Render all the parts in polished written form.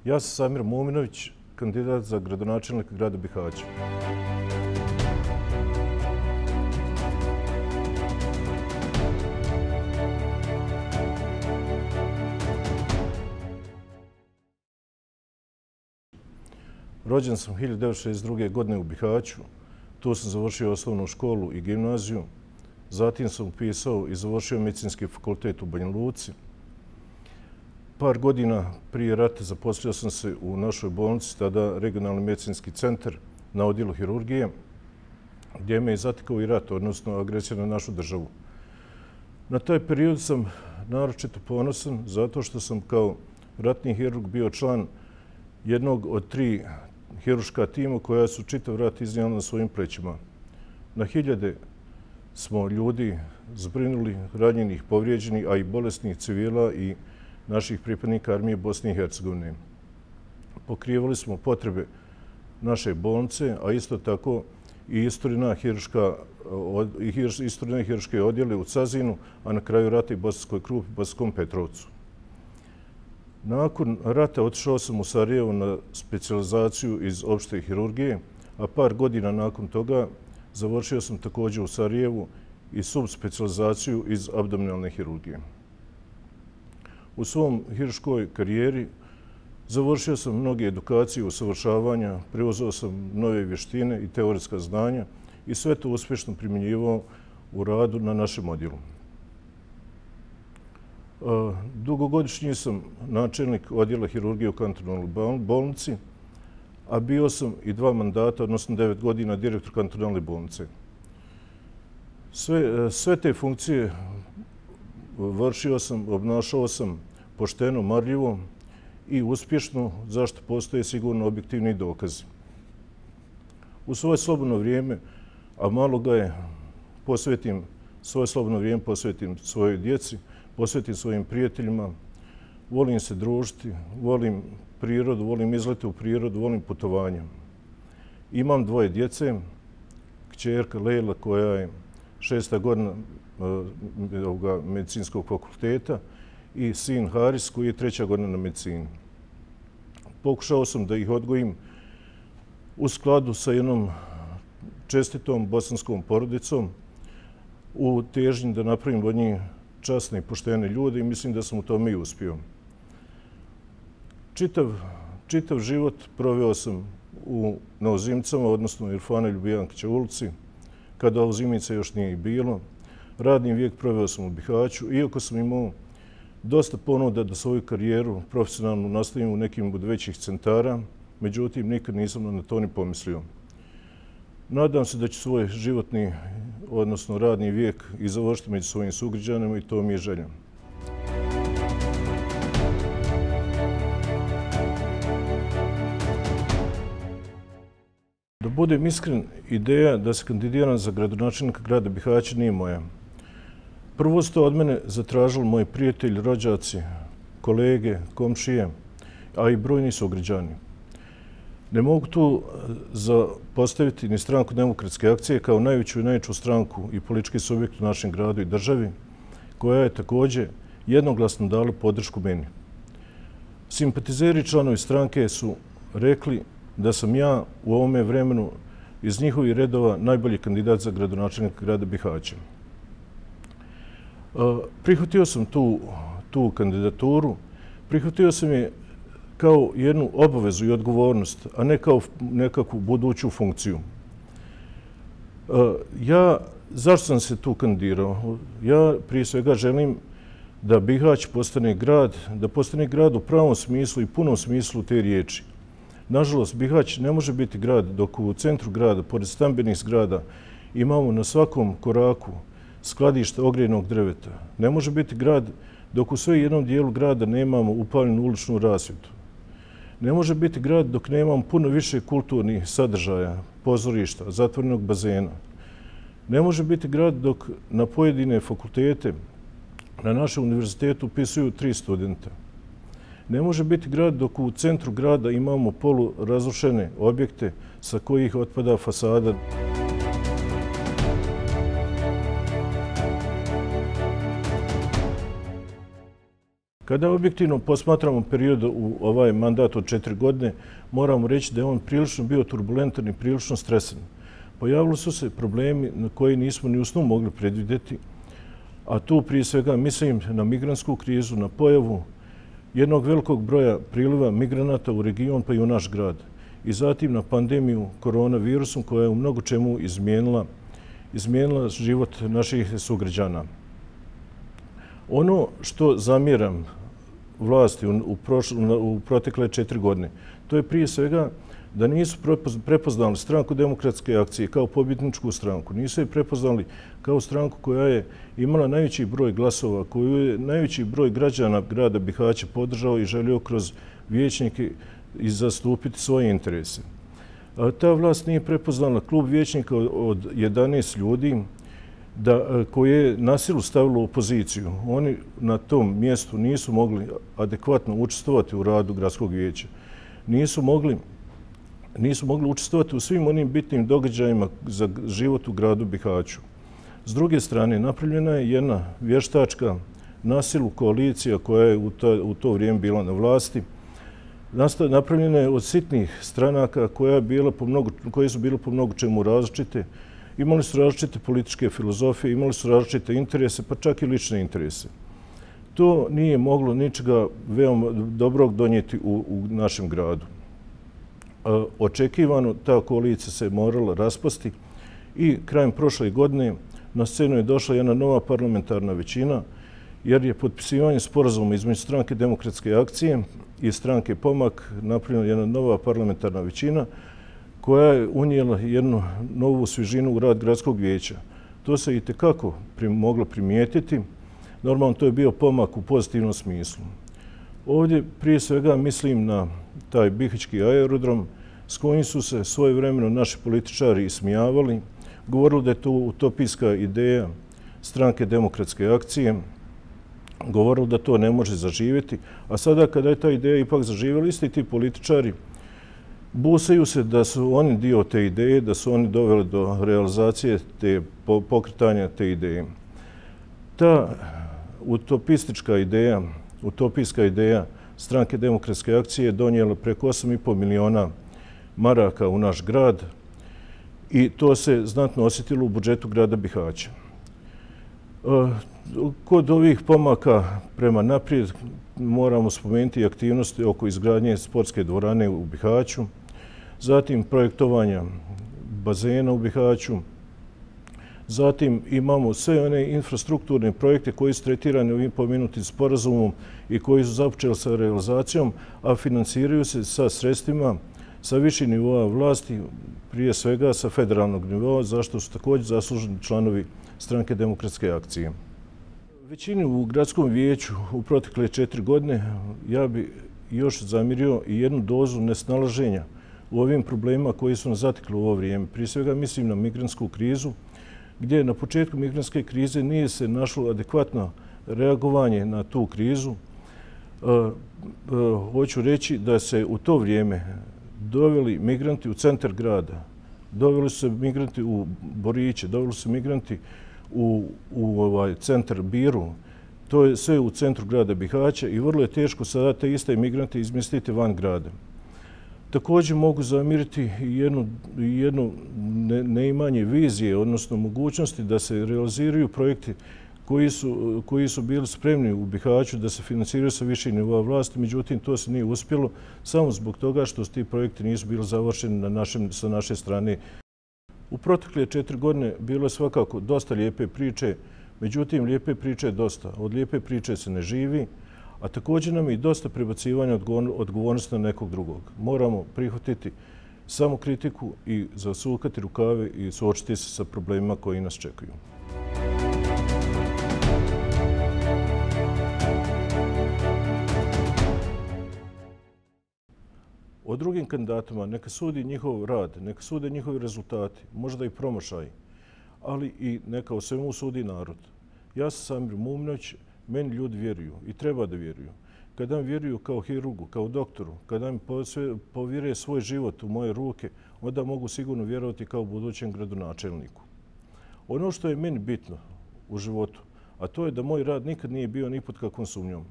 Ja sam Samir Muminović, kandidat za gradonačelnika grada Bihaća. Rođen sam 1962. godine u Bihaću. Tu sam završio osnovnu školu i gimnaziju. Zatim sam upisao i završio medicinski fakultet u Banja Luci. Par godina prije rata zaposlio sam se u našoj bolnici, tada regionalni medicinski centar na odjelu hirurgije, gdje me je zatekao i rat, odnosno agresija na našu državu. Na taj period sam naročito ponosan zato što sam kao ratni hirurg bio član jednog od 3 hirurška tima koja su čitav rat iznijela na svojim plećima. Na hiljade smo ljudi zbrinuli, ranjenih, povrijeđenih, a i bolesnih civila i naših pripadnika armije Bosne i Hercegovine. Pokrivali smo potrebe naše bolnice, a isto tako i istrojna hirurške odjele u Cazinu, a na kraju rata i Bosanskoj Krupi, Bosanskom Petrovcu. Nakon rata otišao sam u Sarajevo na specijalizaciju iz opšte hirurgije, a par godina nakon toga završio sam također u Sarajevu i subspecijalizaciju iz abdominalne hirurgije. U svom hirurškoj karijeri završio sam mnoge edukacije, usavršavanja, preuzeo sam nove vještine i teoretska znanja i sve to uspješno primjenjivao u radu na našem odjelu. Dugogodišnji sam načelnik odjela hirurgije u kantonalnoj bolnici, a bio sam i 2 mandata, odnosno 9 godina, direktor kantonalne bolnice. Sve te funkcije vršio sam, obnašao sam pošteno, marljivo i uspješno, zašto postoje sigurno objektivni dokazi. U svoje slobodno vrijeme, a malo ga je, svoje slobodno vrijeme posvetim svojoj djeci, posvetim svojim prijateljima, volim se družiti, volim prirodu, volim izlete u prirodu, volim putovanja. Imam 2 djece, kćerka Lejla koja je 6. godina medicinskog fakulteta i sin Haris koji je 3. godina na medicini. Pokušao sam da ih odgojim u skladu sa jednom čestitom bosanskom porodicom u težnji da napravim od njih časne i poštene ljude i mislim da sam u tome i uspio. Čitav život proveo sam na Ozimicama, odnosno u Irfana Ljubijankića ulici, kada Ozimica još nije i bilo. Radni vijek proveo sam u Bihaću, iako sam imao dosta ponuda da svoju karijeru profesionalno nastavim u nekim od većih centara, međutim nikad nisam na to ni pomislio. Nadam se da ću svoj životni, odnosno radni vijek i završiti među svojim sugrađanima i to mi je želja. Da budem iskren, ideja da se kandidiram za gradonačelnika grada Bihaća nije moja. Prvo su to od mene zatražili moji prijatelji, rođaci, kolege, komšije, a i brojni sugrađani. Ne mogu tu postaviti ni stranku Demokratske akcije kao najveću i najjaču stranku i politički subjekt u našem gradu i državi, koja je također jednoglasno dala podršku meni. Simpatizeri i članovi stranke su rekli da sam ja u ovome vremenu iz njihovih redova najbolji kandidat za gradonačelnika grada Bihaća. Prihvatio sam tu kandidaturu, prihvatio sam je kao jednu obavezu i odgovornost, a ne kao nekakvu buduću funkciju. Zašto sam se tu kandidirao? Ja prije svega želim da Bihać postane grad u pravom smislu i punom smislu te riječi. Nažalost, Bihać ne može biti grad dok u centru grada, pored stambenih zgrada, imamo na svakom koraku skladišta ogrjevnog drveta. Ne može biti grad dok u sve jednom dijelu grada nemamo upaljenu uličnu rasvjetu. Ne može biti grad dok nemamo puno više kulturnih sadržaja, pozorišta, zatvorenog bazena. Ne može biti grad dok na pojedine fakultete na našem univerzitetu upisuju 3 studenta. Ne može biti grad dok u centru grada imamo polurazrušene objekte sa kojih otpada fasada. Kada objektivno posmatramo period u ovaj mandat od 4 godine, moramo reći da je on prilično bio turbulentan i prilično stresan. Pojavili su se problemi na koje nismo ni u snu mogli predvidjeti, a tu prije svega mislim na migrantsku krizu, na pojavu jednog velikog broja priliva migranata u region pa i u naš grad. I zatim na pandemiju koronavirusom koja je u mnogo čemu izmijenila život naših sugrađana. Ono što zamjeram vlasti u protekle 4 godine, to je prije svega da nisu prepoznali Stranku demokratske akcije kao pobjedničku stranku. Nisu je prepoznali kao stranku koja je imala najveći broj glasova, koju je najveći broj građana grada Bihaća podržao i želio kroz vijećnike i zastupiti svoje interese. Ta vlast nije prepoznala klub vijećnika od 11 ljudi koje je na silu stavilo u opoziciju. Oni na tom mjestu nisu mogli adekvatno učestvovati u radu gradskog vijeća. Nisu mogli učestvovati u svim onim bitnim događajima za život u gradu Bihaću. S druge strane, napravljena je jedna vještačka na silu koalicija koja je u to vrijeme bila na vlasti. Napravljena je od sitnih stranaka koje su bile po mnogo čemu različite. Imali su različite političke filozofije, imali su različite interese, pa čak i lične interese. To nije moglo ničega veoma dobrog donijeti u našem gradu. Očekivano ta koalicija se morala raspasti i krajem prošle godine na scenu je došla jedna nova parlamentarna većina jer je potpisivanje sporazuma između Stranke demokratske akcije i Stranke Pomak napravljena jedna nova parlamentarna većina koja je unijela jednu novu svježinu u rad gradskog vijeća. To se itekako moglo primijetiti. Normalno to je bio pomak u pozitivnom smislu. Ovdje prije svega mislim na taj bihaćki aerodrom s kojim su se svojevremeno naši političari ismijavali, govorili da je to utopijska ideja Stranke demokratske akcije, govorili da to ne može zaživjeti, a sada kada je ta ideja ipak zaživjela, isti ti političari busaju se da su oni dio te ideje, da su oni doveli do realizacije pokretanja te ideje. Ta utopijska ideja Stranke demokratske akcije je donijela preko 8,5 miliona maraka u naš grad i to se znatno osjetilo u budžetu grada Bihaća. Kod ovih pomaka prema naprijed moramo spomenuti aktivnosti oko izgradnje sportske dvorane u Bihaću, zatim projektovanja bazena u Bihaću, zatim imamo sve one infrastrukturne projekte koji su tretirani ovim pomenutim sporazumom i koji su započeli sa realizacijom, a financiraju se sa sredstvima sa viših nivoa vlasti, prije svega sa federalnog nivoa, zašto su također zasluženi članovi Stranke demokratske akcije. Većini u gradskom vijeću u protekle 4 godine ja bi još zamjerio i jednu dozu nesnalaženja u ovim problemima koji su nas zatekli u ovo vrijeme. Prije svega mislim na migrantsku krizu, gdje na početku migrantske krize nije se našlo adekvatno reagovanje na tu krizu. Hoću reći da se u to vrijeme doveli migranti u centar grada, doveli su se migranti u Boriće, doveli su se migranti u centar Biru. To je sve u centru grada Bihaća i vrlo je teško sada te iste migrante izmjestiti van grada. Također mogu zamjeriti jedno neimanje vizije, odnosno mogućnosti da se realiziraju projekti koji su bili spremni u Bihaću da se financiraju sa viših nivoa vlasti, međutim to se nije uspjelo samo zbog toga što ti projekti nisu bili završeni sa naše strane. U protekle 4 godine bilo je svakako dosta lijepe priče, međutim lijepe priče je dosta. Od lijepe priče se ne živi, a također nam je i dosta prebacivanja odgovornosti na nekog drugog. Moramo prihvatiti samo kritiku i zasukati rukave i suočiti se sa problemima koji nas čekaju. O drugim kandidatima neka sudi njihov rad, neka sude njihovi rezultati, možda i promašaj, ali i neka o svemu sudi narod. Ja sam Samir Mumnović, meni ljudi vjeruju i treba da vjeruju. Kada mi vjeruju kao hirurgu, kao doktoru, kada mi povjere svoj život u moje ruke, onda mogu sigurno vjerovati kao budućem gradonačelniku. Ono što je meni bitno u životu, a to je da moj rad nikad nije bio ni pod kakvom sumnjom.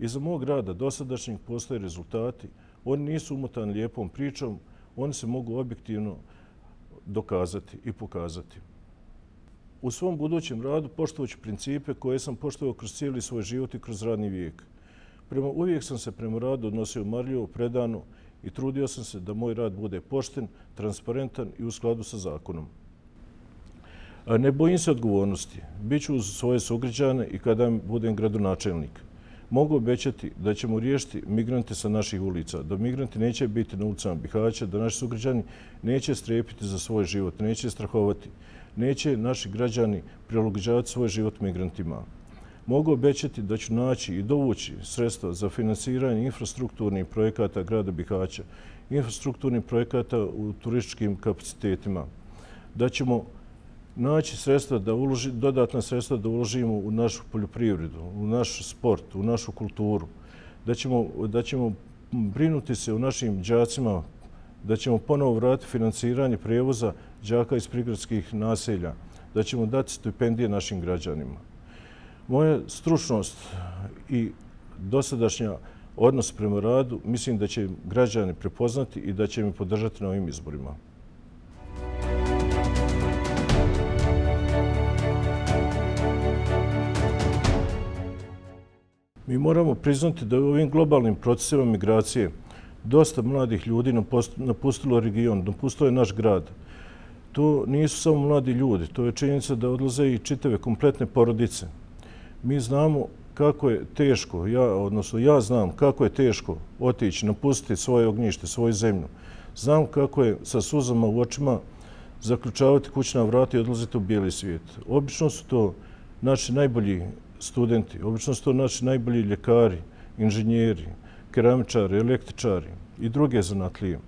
Iza mog rada dosadašnjeg postoje rezultati. Oni nisu umotani lijepom pričom, oni se mogu objektivno dokazati i pokazati. U svom budućem radu poštovaću principe koje sam poštovao kroz cijeli svoj život i kroz radni vijek. Uvijek sam se prema radu odnosio marljivo, predano i trudio sam se da moj rad bude pošten, transparentan i u skladu sa zakonom. Ne bojim se odgovornosti. Biću uz svoje sugrađane i kada budem gradonačelnik. Mogu obećati da ćemo riješiti migrante sa naših ulica, da migranti neće biti na ulicama Bihaća, da naši sugrađani neće strepiti za svoj život, neće strahovati, neće naši građani prilagođavati svoj život migrantima. Mogu obećati da ću naći i dovući sredstva za finansiranje infrastrukturnih projekata grada Bihaća, infrastrukturnih projekata u turističkim kapacitetima, da ćemo naći sredstva dodatna sredstva da uložimo u našu poljoprivredu, u naš sport, u našu kulturu, da ćemo brinuti se o našim đacima, da ćemo ponovo vratiti finansiranje prijevoza đaka iz prigradskih naselja, da ćemo dati stipendije našim građanima. Moja stručnost i dosadašnja odnos prema radu mislim da će građani prepoznati i da će me podržati na ovim izborima. Mi moramo priznati da u ovim globalnim procesima migracije dosta mladih ljudi napustilo region, napustilo je naš grad. To nisu samo mladi ljudi, to je činjenica da odlaze i čitave kompletne porodice. Mi znamo kako je teško, ja znam kako je teško otići, napustiti svoje ognjište, svoju zemlju. Znam kako je sa suzama u očima zaključavati kućna vrata i odlaziti u bijeli svijet. Obično su to naši najbolji studenti, obično su to naši najbolji ljekari, inženjeri, keramičari, električari i druge zanatlije.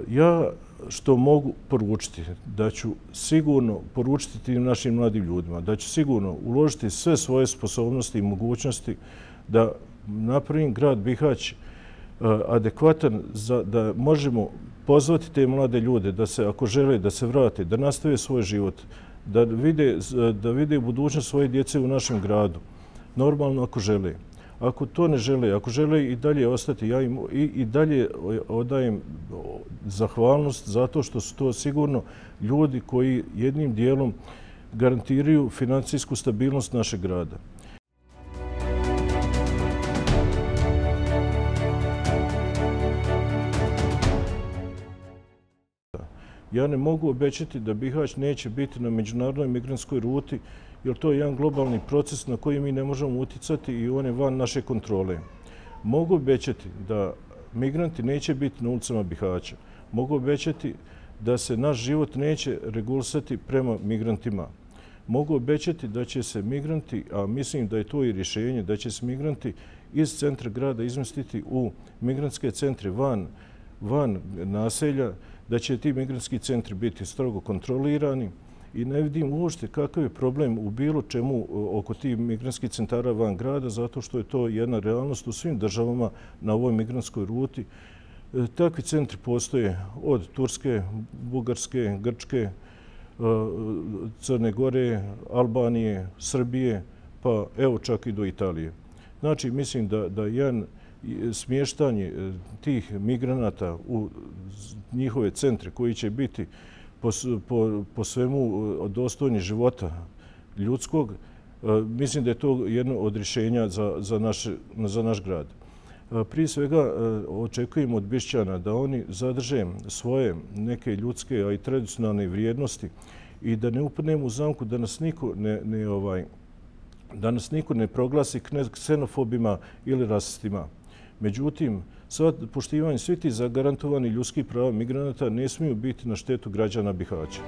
Ja što mogu poručiti, da ću sigurno poručiti tim našim mladim ljudima, da ću sigurno uložiti sve svoje sposobnosti i mogućnosti da napravim grad Bihać adekvatan, da možemo pozvati te mlade ljude da se, ako žele, da se vrate, da nastave svoj život, da vide budućnost svoje djece u našem gradu. Normalno ako žele. Ako to ne žele, ako žele i dalje ostati, ja im i dalje odajem zahvalnost zato što su to sigurno ljudi koji jednim dijelom garantiraju financijsku stabilnost našeg grada. Ja ne mogu obećati da Bihać neće biti na međunarodnoj migrantskoj ruti, jer to je jedan globalni proces na koji mi ne možemo uticati i on je van naše kontrole. Mogu obećati da migranti neće biti na ulicama Bihaća. Mogu obećati da se naš život neće regulisati prema migrantima. Mogu obećati da će se migranti, a mislim da je to i rješenje, da će se migranti iz centra grada izmestiti u migrantske centre van naselja, da će ti migrantski centri biti strogo kontrolirani i ne vidim uopšte kakav je problem u bilo čemu oko tih migrantskih centara van grada, zato što je to jedna realnost u svim državama na ovoj migrantskoj ruti. Takvi centri postoje od Turske, Bugarske, Grčke, Crne Gore, Albanije, Srbije, pa evo čak i do Italije. Znači, mislim da jedan smještanje tih migranata u njihove centre koji će biti po svemu dostojni života ljudskog, mislim da je to jedno od rješenja za naš grad. Prije svega očekujemo od Bišćana da oni zadrže svoje neke ljudske, a i tradicionalne vrijednosti i da ne upadnemo u zamku da nas niko ne proglasi ksenofobima ili rasistima. Međutim, poštivanje svih tih zagarantovani ljudskih prava migranata ne smiju biti na štetu građana Bihaća.